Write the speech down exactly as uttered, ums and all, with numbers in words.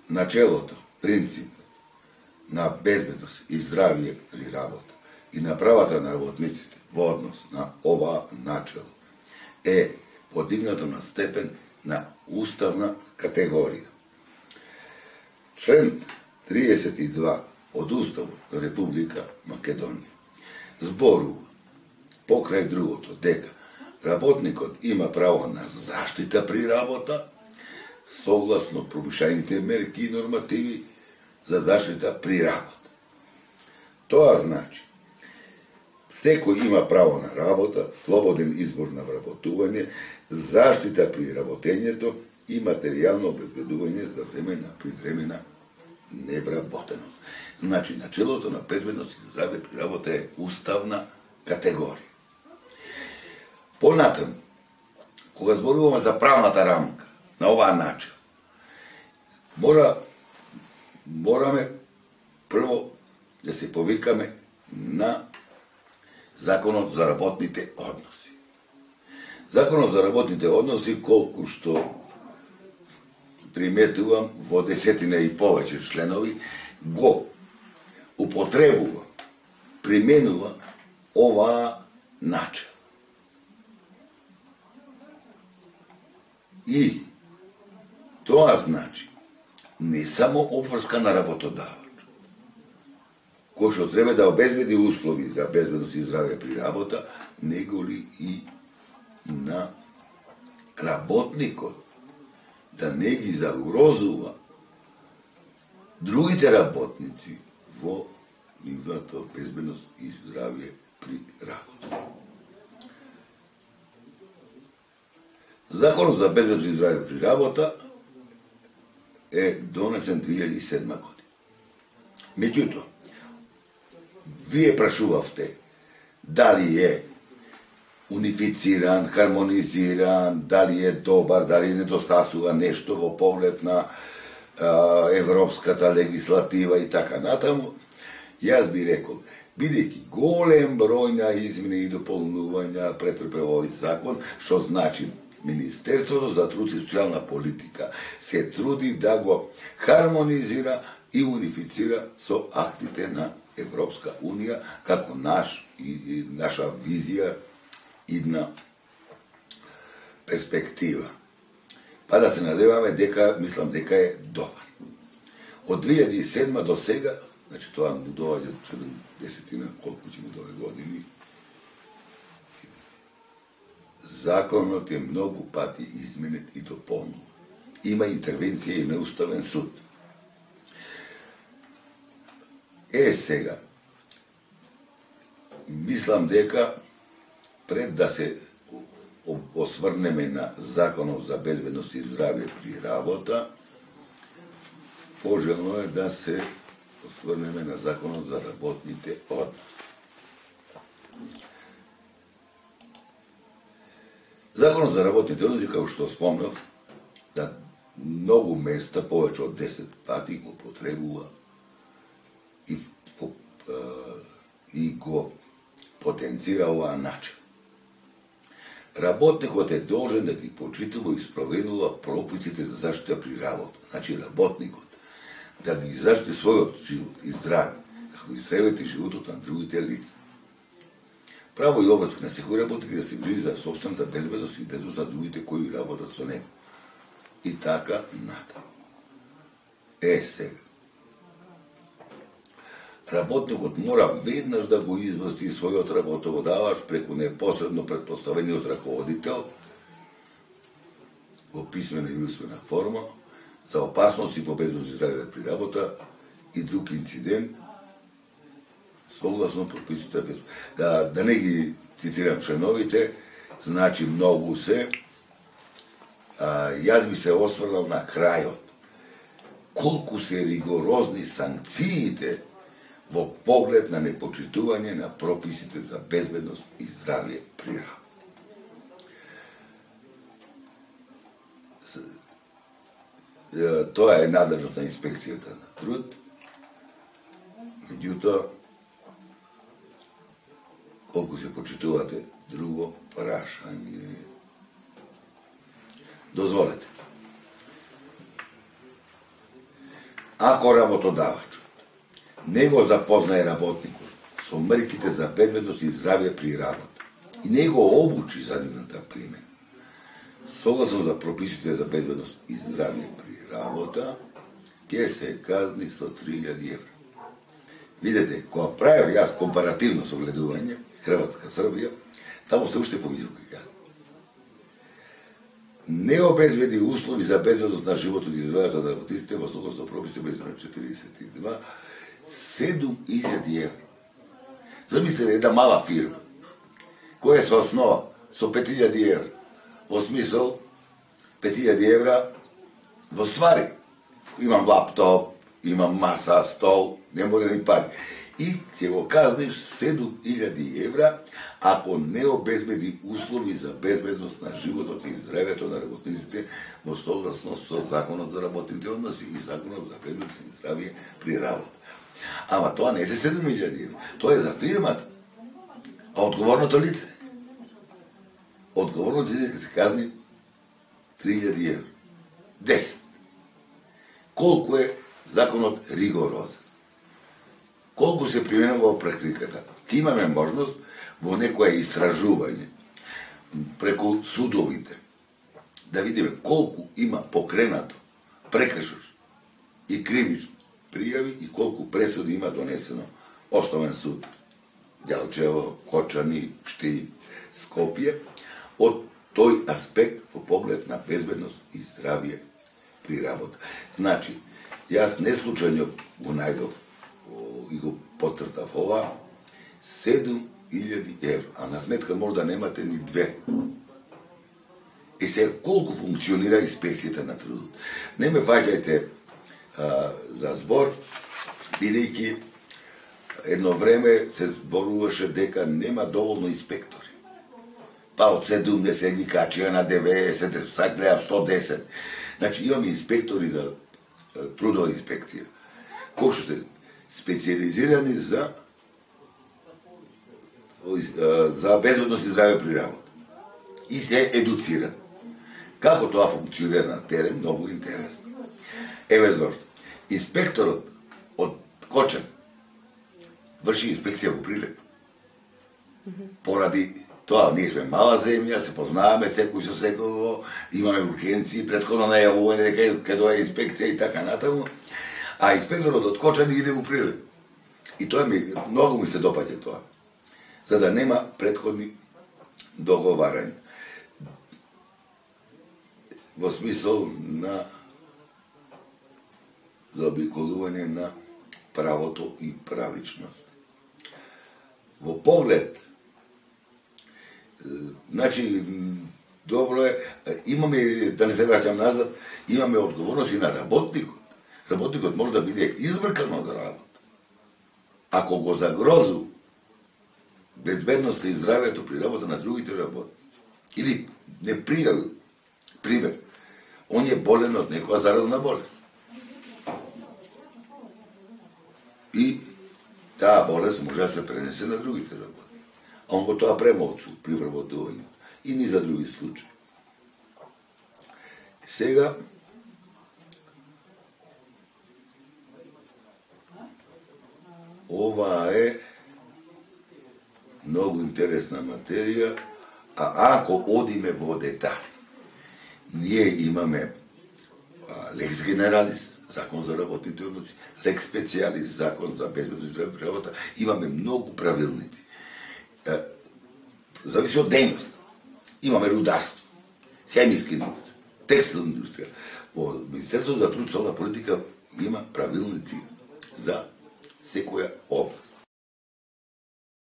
начелото, принцип на безбедност и здравје при работа и на правата на работниците во однос на ова начело е подигнато на степен на уставна категорија. Член триесет и два од Уставот на Република Македонија зборува покрај другото дека работникот има право на заштита при работа согласно промишлените мерки и нормативи за заштита при работа. Тоа значи секој има право на работа, слободен избор на вработување, заштита при работењето и материјално обезбедување за време на привремена невработеност. Значи, начелото на безбедност и здравје при работа е уставна категорија. Понатаму, кога зборуваме за правната рамка на оваа начин, мора, мораме прво да се повикаме на Законот за работните односи. Законот за работните односи, колку што приметувам во десетина и повеќе членови, го употребува, применува оваа начин. И тоа значи не само обврска на работодавач, кој што треба да обезбеди услови за безбедност и здравје при работа, него ли и на работникот да не ги загрозува другите работници во нивната безбедност и здравје при работа. Законот за безбедност и здравје при работа е донесен две илјади и седма година. Меѓутоа, вие прашувавте дали е унифициран, хармонизиран, дали е добар, дали недостасува нешто во поглед на а, европската легислатива и така натаму. Јас би рекол, бидејќи голем број на измени и дополнувања претрпе овој закон, што значи Министерството за труд и социјална политика се труди да го хармонизира и унифицира со актите на Европска Унија како наш и, и наша визија идна перспектива. Па да се надеваме дека, мислам дека е добар. Од две илјади и седма до сега, значи тоа му доаѓа седемдесетина, колку ќе му доаѓа години, законот е многу пати изменет и дополнен. Има интервенција и на Уставен суд. Е, сега, мислам дека пред да се осврнеме на Законот за безбедност и здравје при работа, пожелно е да се осврнеме на Законот за работните односи. Законот за работните односи, како што спомнав, на многу места, повеќе од десет пати го потребува и, и го потенцира оваа начин. Работникот е должен да ги почитува и спроведува прописите за заштита при работа. Значи, работникот да ги заштити својот живот и здравје, како и здравјето и животот на другите лица. Право и обврска на секој работник да се грижи за собствената безбедност и безбедност на другите кои работат со него. И така натаму. Е, сега. Работникот мора веднаш да го извести својот работодавач преку непосредно претпоставениот раководител во писмена и усмена форма за опасности по безбедност и здравје при работа и друг инцидент согласно прописите без... Да, да не ги цитирам членовите, значи многу се. А, јас би се осврнал на крајот. Колку се ригорозни санкциите во поглед на непочитување на прописите за безбедност и здравје при работа. Тоа е надлежност на инспекцијата на труд. Меѓутоа, колку се почитувате друго прашање. Дозволете. Ако работодавачот не го запознае работникот со мерките за безбедност и здравје при работа и не го обучи за нивната примена, согласно за прописите за безбедност и здравје при работа, ќе се казни со три илјади евра. Видете, кога правев јас компаративно согледување, Хрватска, Србија, таму се уште повисоки казни. Не обезбеди услови за безбедност на животот и здравјето на работниците во согласно прописите без четириесет и два, седум илјади евра. Замислете една мала фирма, која се основа со пет илјади евра, во смисол пет илјади евра во ствари. Имам лаптоп, имам маса, стол, не мора ни пари. И ќе го казнеш седум илјади евра ако не обезбеди услови за безбедност на животот и здравјето на работниците во согласно со Законот за работните односи и Законот за безбедност и здравје при работа. Ама тоа не се седум илјади евра, тоа е за фирмата. А одговорното лице? Одговорното лице ќе се казни три илјади евра. десет. Колку е законот ригорозен? Колку се применува во практиката? Ке имаме можност во некое истражување преку судовите да видиме колку има покренато прекршош и кривично пријави и колку пресуди има донесено Основен суд Делчево, Кочани, Штип, Скопје, од тој аспект во поглед на безбедност и здравје при работа. Значи, јас не случајно го најдов и го потцртав ова, седум илјади евра, а на сметка може да немате ни две. И се колку функционира инспекцијата на трудот. Не ме фаќајте за збор, бидејќи едно време се зборуваше дека нема доволно инспектори. Па од седумдесет ги качија на деветдесет, сак гледав сто десет. Значи имаме инспектори за трудова инспекција, кои што се специализирани за за безбедност и здравје при работа. И се едуцирани. Како тоа функционира на терен, многу интересно. Еве зошто. Инспекторот од Кочан врши инспекција во Прилеп. Поради тоа, ние сме мала земја, се познаваме секој со секој, имаме ургенции, предходно најавување дека ќе дое инспекција и така натаму, а инспекторот од Кочан иде во Прилеп. И тоа ми, многу ми се допаѓа тоа. За да нема предходни договарања. Во смисол на заобиколување на правото и правичност. Во поглед, значи, добро е, имаме, да не се враќам назад, имаме одговорност и на работникот. Работникот може да биде избркан од работа. Ако го загрозу безбедноста и здравјето при работа на другите работници, или не пријави, пример, он е болен од некоја заразна болест. И таа болест може да се пренесе на другите работници. А он го тоа премолчу при вработувањето. И ни за други случаи. Сега, ова е многу интересна материја, а ако одиме во детали, ние имаме лекс генералис, закон за работните односи, лекс специалис, закон за безбедност и здравје при работа, имаме многу правилници. Зависи од дејност. Имаме рударство, хемиска индустрија, текстилна индустрија. Во Министерството за труд и социјална политика има правилници за секоја област.